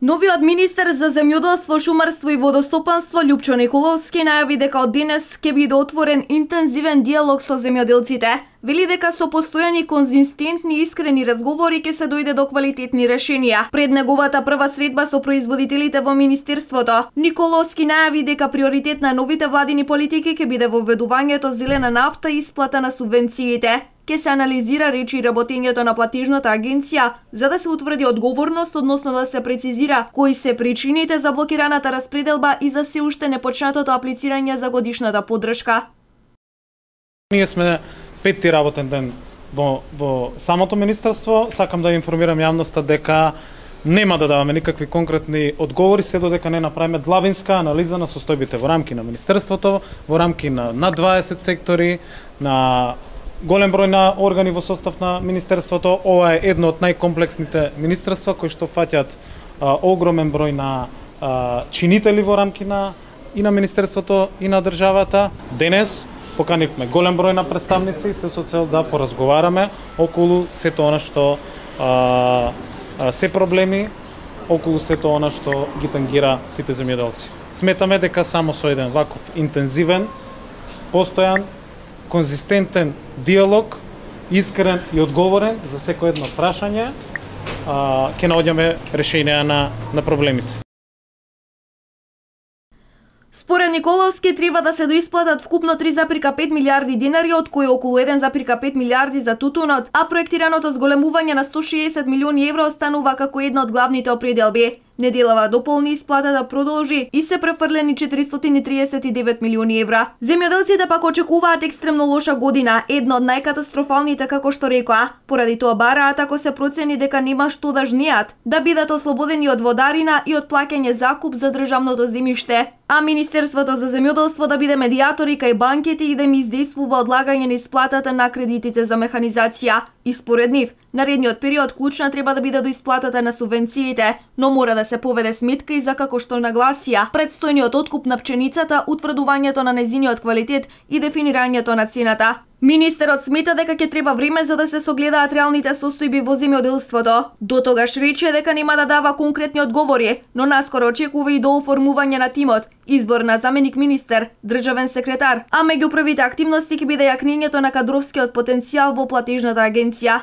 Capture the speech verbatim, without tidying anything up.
Новиот министер за земјоделство, шумарство и водостопанство Љупчо Николовски најави дека од денес ќе биде отворен интензивен диалог со земјоделците. Вели дека со постојани, конзистентни и искрени разговори ќе се дојде до квалитетни решенија. Пред неговата прва средба со производителите во министерството, Николовски најави дека приоритет на новите владини политики ќе биде воведувањето зелена нафта и исплата на субвенциите. Ке се анализира речи работењето на платежната агенција за да се утврди одговорност, односно да се прецизира кои се причините за блокираната распределба и за се уште непочнатото аплицирање за годишната поддршка. Ние сме петти работен ден во, во самото министерство. Сакам да информирам јавноста дека нема да даваме никакви конкретни одговори се додека не направиме длабинска анализа на состојбите во рамки на министерството, во рамки на над дваесет сектори, на голем број на органи во состав на министерството. Ова е едно од најкомплексните министерства кои што фаќаат а, огромен број на а, чинители во рамки на и на министерството и на државата. Денес поканивме голем број на представници се со цел да поразговараме околу сето она што а, а, се проблеми, околу сето она што ги тангира сите земјоделци. Сметаме дека само со еден ваков интензивен, постојан, конзистентен диалог, искрен и одговорен за секој едно прашање, ќе наоѓаме решенија на, на проблемите. Според Николовски треба да се доисплатат вкупно три запирка пет милиарди динари, од кои околу еден запирка пет милиарди за тутунот, а проектираното зголемување на сто шеесет милиони евро останува како една од главните определби. Неделава дополни исплата да продолжи и се префрлени четиристотини триесет и девет милиони евра. Земјоделците пак очекуваат екстремно лоша година, една од најкатастрофалните како што рекоа. Поради тоа бараат, ако се процени дека нема што да жнеат, да бидат ослободени од водарина и од плаќање закуп за државното земјиште. А Министерството за земјоделство да биде медијатор и кај банките и да им издействува одлагање на исплатата на кредитите за механизација. И според нив, наредниот период клучна треба да биде до исплатата на субвенциите, но мора да се поведе сметка и за како што нагласија предстојниот откуп на пченицата, утврдувањето на незиниот квалитет и дефинирањето на цената. Министерот смета дека ќе треба време за да се согледаат реалните состојби во земјоделството. До тогаш рече дека нема да дава конкретни одговори, но наскоро очекува и до оформување на тимот, избор на заменик министер, државен секретар, а меѓу првите активности ќе биде јакнењето на кадровскиот потенцијал во платежната агенција.